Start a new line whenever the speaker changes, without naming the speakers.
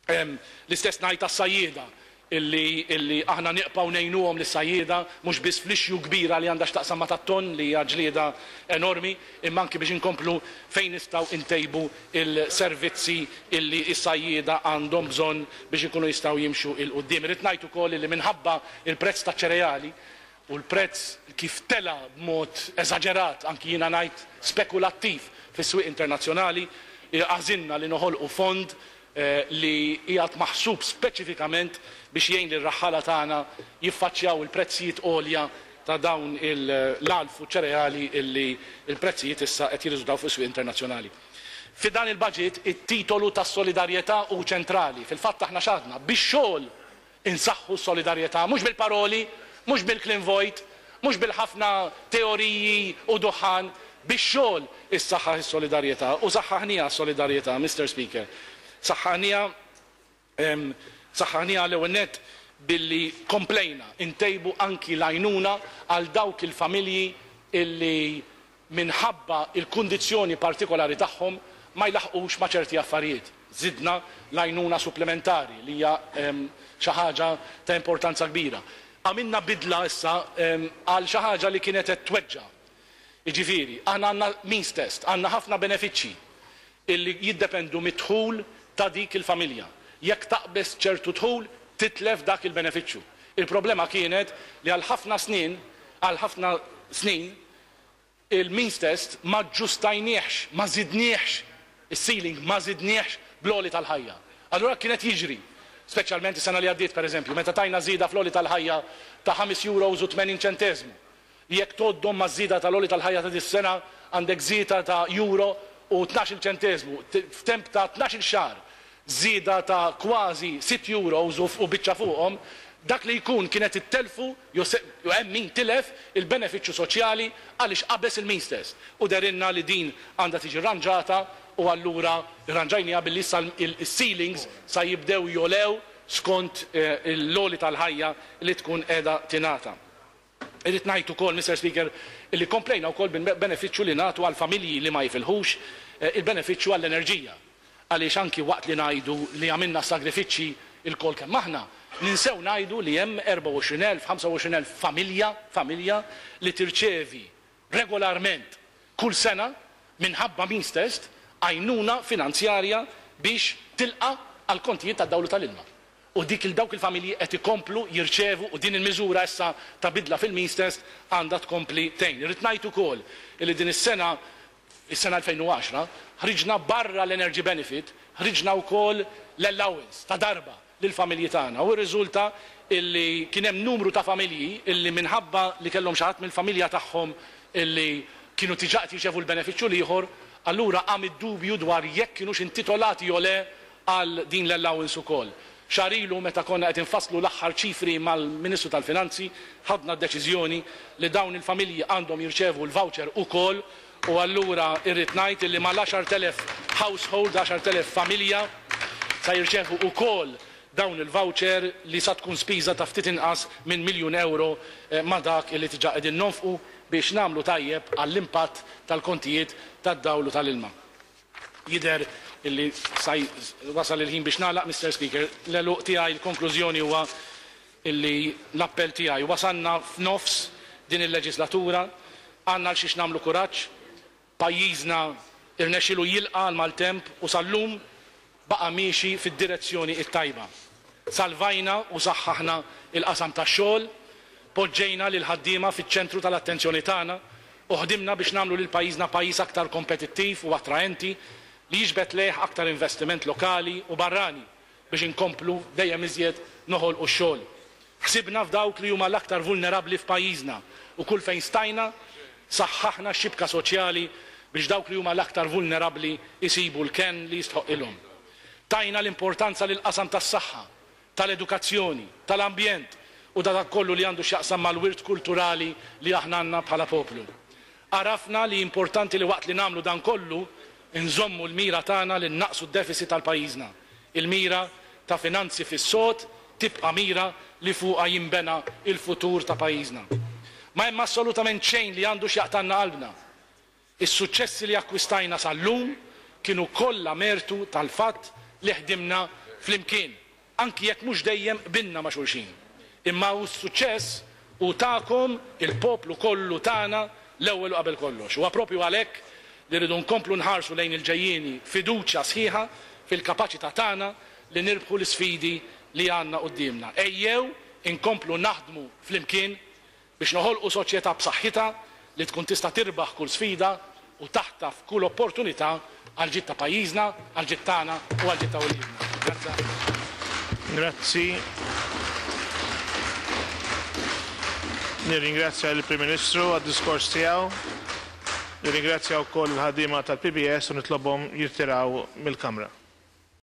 L-istess ngħid għas-sajjieda illi illi aħna niqpgħu ngħinuhom lis-sajjieda mhux biss fl-issue kbira li għandha x'taqsam ma' tat-tonn li hija ġlieda enormi imma anki biex inkomplu fejn nistgħu ntejbu l-servizzi illi s-sajjieda għandhom bżonn biex ikunu jistgħu jimxu 'l quddiem. Irrid ngħid ukoll illi minħabba l-prezz taċ-ċereali u l-prezz kif tela' b'mod eżaġerat, anki jiena ngħid spekulattiv fis-swieq internazzjonali, għażilna li noħolqu fond li qiegħed maħsub speċifikament biex jgħin lir-raħħala tagħna jiffaċċjaw il-prezzijiet għolja ta' dawn l-għalf u ċ-ċereali li l-prezzijiet issa qed jirriżultaw fuq is-swieq internazzjonali. Fi dan il-baġit it-titolu tas-solidarjetà hu ċentrali. Fil-fatt aħna x'għadna? Bix-xogħol Insaħħu s-solidarjetà, mhux bil-paroli, mhux bil-kliem vojt, mhux bil-ħafna teoriji u duħħan, bix-xogħol issaħħaħ is-solidarjetà u saħħaħnieha s-solidarjetà, Mister Speaker. Saħħaħnieha, saħħaħnieha l-ewwel nett billi komplejna ntejbu anki l-għajnuna għal dawk il-familji illi minħabba l-kundizzjoni partikolari tagħhom ma jlaħħqux ma' ċerti affarijiet. Żidna l-għajnuna supplimentari li hija xi ħaġa ta' importanza kbira. Għamilna bidla issa għal xi ħaġa li kienet qed tweġġa'. Jiġifieri, aħna għandna means test, għandna ħafna benefiċċji illi jiddependu mid-dħul ta' dik il-familja. Jekk taqbeż ċertu dħul, titlef dak il-benefiċċju. Il-problema kienet li għal ħafna snin, għal ħafna snin, Il-means test ma aġġustajniehx, ma żidniehx, is-ceiling ma żidniehx bl-għoli tal-ħajja. Allura kien qed jiġri, speċjalment is-sena li għaddiet pereżempju, meta tajna żieda fl-għoli tal-ħajja ta' ħames euros u 80 ċenteżmu, li jekk tgħoddhom maż-żieda tal-għoli tal-ħajja ta' dis-sena għandek żieda ta' euro u tnax-il ċenteżmu f'temp ta' tnax-il xahar. Żieda ta' kważi sitt euros u biċċa fuqhom, dak li jkun kien qed ittellfu jew se hemm min tilef il-benefiċċju soċjali għaliex qabeż il-means test. U dehrilna li din għandha tiġi rranġata u allura rranġajniha billi issa s-ceilings sa jibdew jogħlew skont l-għoli tal-ħajja li tkun qiegħda tingħata. Irrid ngħid ukoll, Mister Speaker, illi komplejna wkoll bil-benefiċċju li nagħtu għall-familji li ma jifilħux, il-benefiċċju għall-enerġija. Għaliex anki waqt li ngħidu li għamilna s-sagrifiċċji lkoll kemm aħna, ninsew ngħidu li hemm 24,000, 25,000 familja, familja li tirċevi regolarment kull sena minħabba means test għajnuna finanzjarja biex tilqa' għall-kontijiet tad-dawl u tal-ilma. U dik il dawk il-familji qed ikomplu jirċevu u din il-miżura issa ta' bidla fil-means test għandha tkompli tgħin. Irrid ngħid ukoll illi din is-sena, is-sena 2010, ħriġna barra l-energy benefit, ħriġna wkoll l-allowance ta' darba lill-familji tagħna u rriżulta illi kien hemm numru ta' familji illi minħabba li kellhom xi ħadd mill-familja tagħhom illi kienu diġà qed jirċevu l-benefiċċju l-ieħor, allura qam id-dubju dwar jekk kinux intitolati jew le għal din l-allowance ukoll. Xahar ilu meta konna qed infasslu l-aħħar ċifri mal-Ministru tal-Finanzi, ħadna d-deċiżjoni li dawn il-familji għandhom jirċevu l-voucher ukoll u allura irrid ngħid illi mal-10,000 household, 10,000 familja sa jirċevu ukoll dawn il-voucher li sa tkun spiża ta' ftit inqas minn miljun ewro ma' dak illi diġà qegħdin nonfqu biex nagħmlu tajjeb għall-impatt tal-kontijiet tad-dawl u tal-ilma. Jidher illi sa wasal il-ħin biex nagħlaq, Mister Speaker. L-għeluq tiegħi, il-konklużjoni huwa illi l-appell tiegħi, wasalna f'nofs din il-leġislatura, għandna għal xiex nagħmlu kuraġġ, pajjiżna rnexxielu jilqa' għall-maltemp u sal-lum baqa' miexi fid-direzzjoni t-tajba. Salvajna u saħħaħna l-qasam tax-xogħol, poġġejna lill-ħaddiema fiċ-ċentru tal-attenzjoni tagħna u ħdimna biex nagħmlu lil pajjiżna pajjiż aktar kompetittiv u attraenti li jiġbed lejh aktar investiment lokali u barrani biex inkomplu dejjem iżjed noħolqu x-xogħol. Ħsibna f'dawk li huma l-aktar vulnerabbli f'pajjiżna u kull fejn stajna saħħaħna x-xibka soċjali biex dawk li huma l-aktar vulnerabbli jsibu l-kenn li jistħoqqilhom. Tajna l-importanza lill-qasam tas-saħħa, tal-edukazzjoni, tal-ambjent u ta' dak kollu li għandu x'jaqsam mal-wirt kulturali li aħna għandna bħala poplu. Għarafna li importanti li waqt li nagħmlu dan kollu nżommu l-mira tagħna li nnaqqsu d-deficit għal pajjiżna. Il-mira ta' finanzi fis-sod tibqa' mira li fuqha jinbena l-futur ta' pajjiżna. Ma hemm assolutament xejn li għandu x'jaqtgħalna qalbna. Is-suċċessi li akkwistajna sal-lum kienu kollha mertu tal-fatt li ħdimna flimkien, anki jekk mhux dejjem qbilna ma' xulxin. Imma hu s-suċċess hu tagħkom, il-poplu kollu tagħna l-ewwel u qabel kollox. Huwa proprju għalhekk li rridu nkomplu nħarsu lejn il-ġejjieni b'fiduċja sħiħa fil-kapaċità tagħna li nirbħu l-isfidi li għandna quddiemna. Ejjew inkomplu naħdmu flimkien biex noħolqu soċjetà b'saħħitha li tkun tista' tirbaħ kull sfida u taħtaf kull opportunità għall-ġid ta' pajjiżna, għall-ġid tagħna u għall-ġid ta' uliedna. Grazzi ħafna.
Grazzi. Nirringrazzja lill-Prim Ministru għad-diskors tiegħu. Nirringrazzja wkoll il-ħaddiema tal-PBS u nitlobhom jirtiraw mill-Kamra.